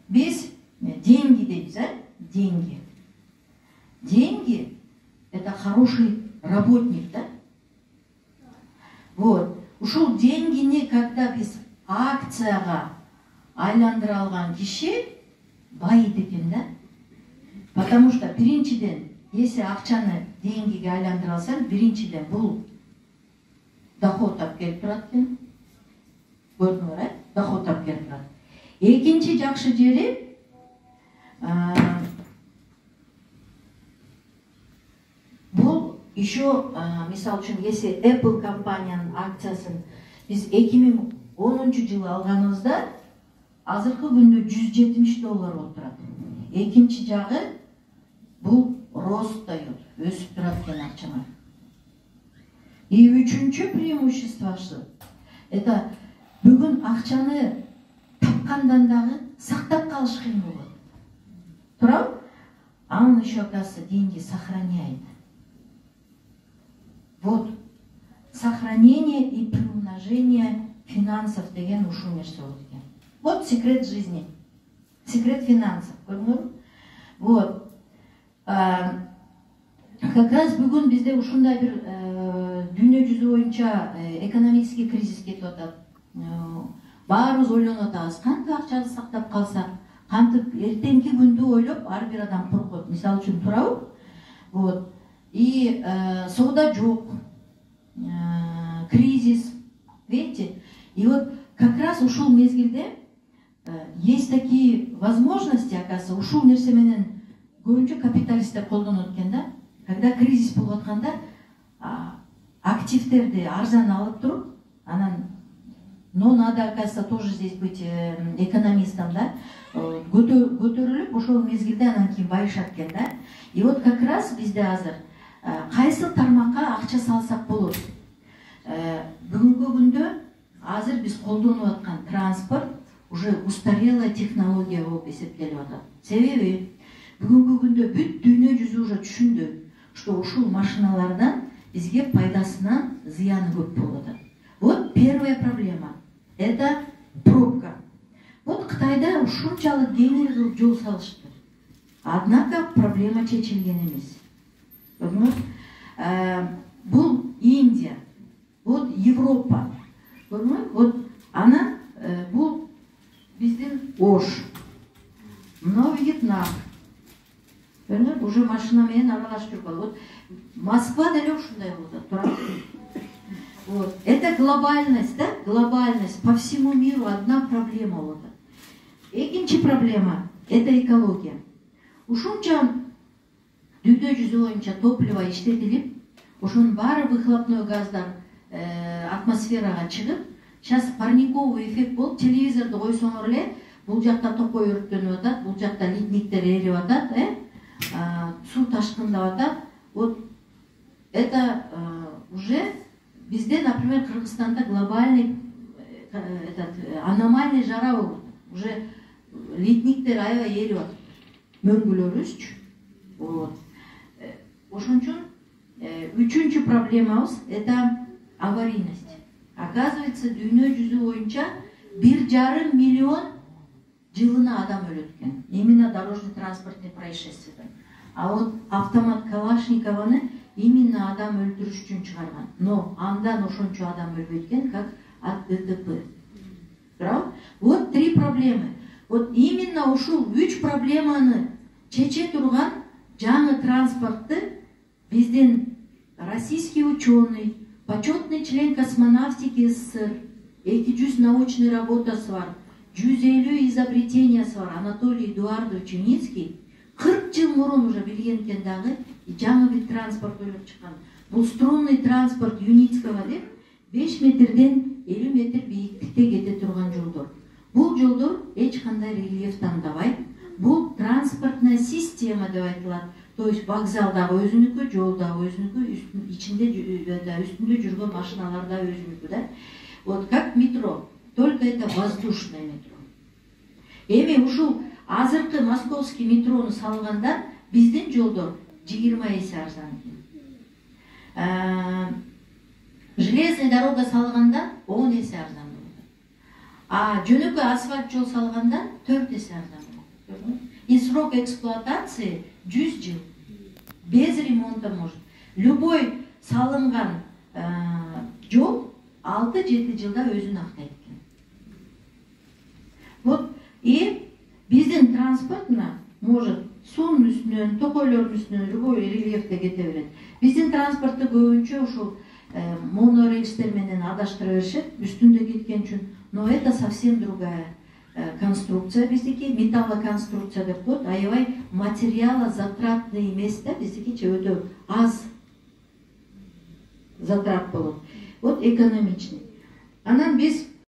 Biz деньги дейбиз, деньги. Деньги — это хороший работник, да? Вот. Ушул деньгини, когда биз акцияга айландыра алган киши байыт экен, да? Потому что биринчиден, если акчаны деньгиге айландыра алсаң, биринчиден бул доход алып келип турат экен. Көрдүңөр, доход алып келип турат. Экинчи жакшы жери бул еще, мисалы үчүн, если Apple компаниянын акциясын биз 2010 жылы алганыбызда, азыркы күндө $170 болуп турат. Экинчи жагы бул рост дает, өсүп турат экен акчалар. И үчүнчү преимуществосы — это бүгүн акчаны тапкандан дагы сактап калыш кыйын болот. Туурабы? А он еще, оказывается, деньги сохраняет. Вот. Сохранение и приумножение финансов деген ушул нерсе болот экен. Вот секрет жизни. Секрет финансов. Көрдүңөрбү? Вот. Как раз бүгүн бизде ушундай бир дүйнө жүзү боюнча экономический кризис кетип атат. Баарыбыз ойлонуп атабыз, кантип акчаны сактап калсак, кантип эртеңки күндү ойлоп ар бир адам коркот. Мисалы үчүн, туурабы? Вот. И соода жок. Кризис. Видите? И вот как раз ушул мезгилде есть такие возможности, оказывается, ушул нерсе менен көбүнчө капиталисттер колдонот экен, да? Когда кризис болуп атканда, активтерди арзан алып туруп, анан, но надо, оказывается, тоже здесь быть экономистом, да? Көтөрүлүп, ошол мезгилде анан кийин байышат экен, да? И вот как раз бизде азыр кайсы тармакка акча салсак болот? Бүгүнкү күндө азыр биз колдонуп аткан транспорт уже устарелая технология болуп эсептелип атат. Себеби бүгүнкү күндө бүт дүйнө жүзү уже түшүндү, что ушул машиналардан бизге пайдасынан зыяны көп болуп атат. Вот первая проблема — это пробка. Вот Кытайда ушунчалык кеңири кылып жол салышты. Однако проблема чечилген эмес. Бул Индия, вот Европа. Вот она, бул биздин Ош, мына Вьетнам. Уже машина менен аралашып жүргөн. Вот Москва деле ушундай болот, туурабы? Вот. Это глобальность, да? Глобальность. По всему миру одна проблема болот. Экинчи проблема — это экология. Ушунча дүйнө жүзү боюнча топливо иштетилип, ошонун баары выхлопной газдар атмосферага чыгып, сейчас парниковый эффект болуп, телевизорду койсоңор эле, бул жакта токой өрттөнүп атат, бул жакта ледниктер эрип атат, суу ташкындап атат. Вот это уже bizde, например, Кыргызстанда глобальный аномальный жара болот. Уже ледниктер аябай эрип атат. Мөңгүлөрүбүзчү. Вот. Ошон үчүн үчүнчү проблемабыз — это аварийность. Оказывается, дүйнө жүзү боюнча 1,5 миллион жылына адам өлөт экен. Именно дорожно-транспортный происшествиядан. А вот автомат Калашникованы именно адам өлтүрүш үчүн чыгарган. Но андан ошончо адам өлбөйт экен, как от ДТП. Вот 3 проблемы. Вот именно ушул 3 проблеманы чече турган жаңы транспортты биздин российский ученый, почетный член космонавтики СССР, 200 научный работасы бар, 150 изобретениясы бар Анатолий Эдуардович Юницкий 40 жыл мурун уже билген экен дагы, жаңы вид транспорт ойлоп чыккан. Бул струнный транспорт Юницкого деп 5 метрден 50 метр бийиктикте кете турган жолдор. Бул жолдор эч кандай рельеф тандабайт. Бул транспортная система деп айтылат. То есть вокзалдагы өзүнүкү, жолдагы өзүнүкү, ичинде үстүндө жүргөн машиналар да өзүнүкү, да. Вот как метро, только это воздушное метро. Эми ушул азыркы московский метрону салганда биздин жолдор 20 эсе арзан экен. Железная дорога салганда 10 эсе арзан болот. А жөнөкөй асфальт жол салганда 4 эсе арзан болот. И срок эксплуатации 100 жыл. Без ремонта может. Любой салынган жол 6-7 жылда өзүн актайт экен. Вот и биздин транспортна может суунун үстүнөн, токойлордун үстүнөн любой рельефте кете берет. Биздин транспортты көбүнчө ушул монорельстер менен адаштыра беришет, үстүндө кеткен үчүн. Но это совсем другая конструкция биздики, металлоконструкция деп коет. Аябай материала затратный эмес да, биздикиче өтө аз затрат болот. Вот экономичный. Анан биз